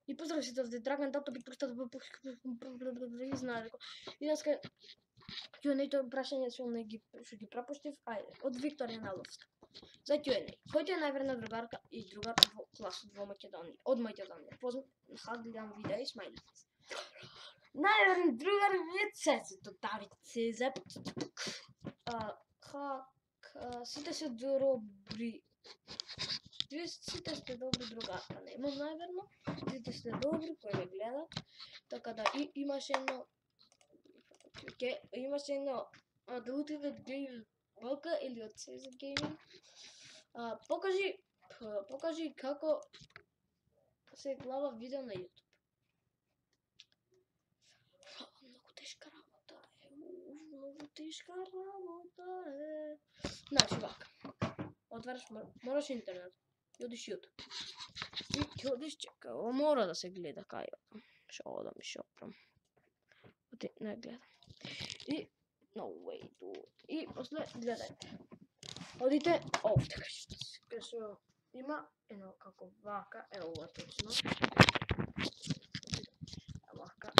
И поздрав сите овде, Драган Тато би прстат и знае дека. И деска Q&A-то прашање што ги пропуштив, ајде, од Викторија Наловска. За Q&A. Кој е најверна другарка и другар во класот во Македонија? Од Македонија. Гледам видео и смајлици. Најверен другар е Цецето Давице. Сите се добри. Сите сте добри другарка, немам најверно. Сите сте добри кои ме гледат. Така да имаше едно да Ultimate Game Boka или од CS Gaming. Покажи како се глава видео на YouTube. Многу тешка работа е. Значи вака. Отвараш, мораш интернет. И одиш YouTube. И одиш чека, мора да се гледа кај. Шо одам и шопрам. Оти не гледам. И no way dude. И после гледајте. Одите овде кај што има едно како вака, е ова точно. Вака,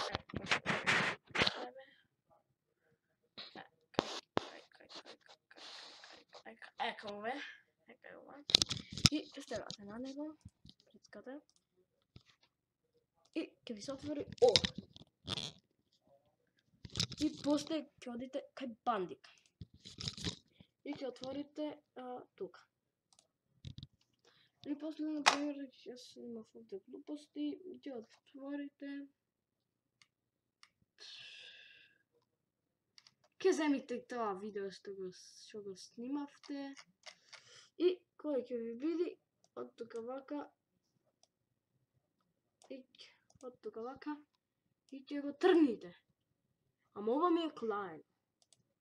Ека ова. И стевате на него, прицкате. И ќе ви се отвори ова. И после ќе одите кај бандика. И ќе отворите тука. И после, например, јас имав овде глупости, ќе отворите. Ќе земите тоа видео што го снимавте. И кој ќе ви види од тука вака. И од тука вака. И ќе го тргните. Ама ова ми е клаен.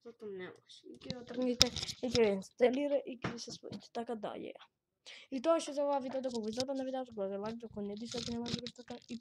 Зато не може. И ќе го тргните, и ќе го инсталира, и ќе се споите. Така да, е. И тоа што за ова видео, да го западна видеото, го лайк, ако не дишате, не може да го така и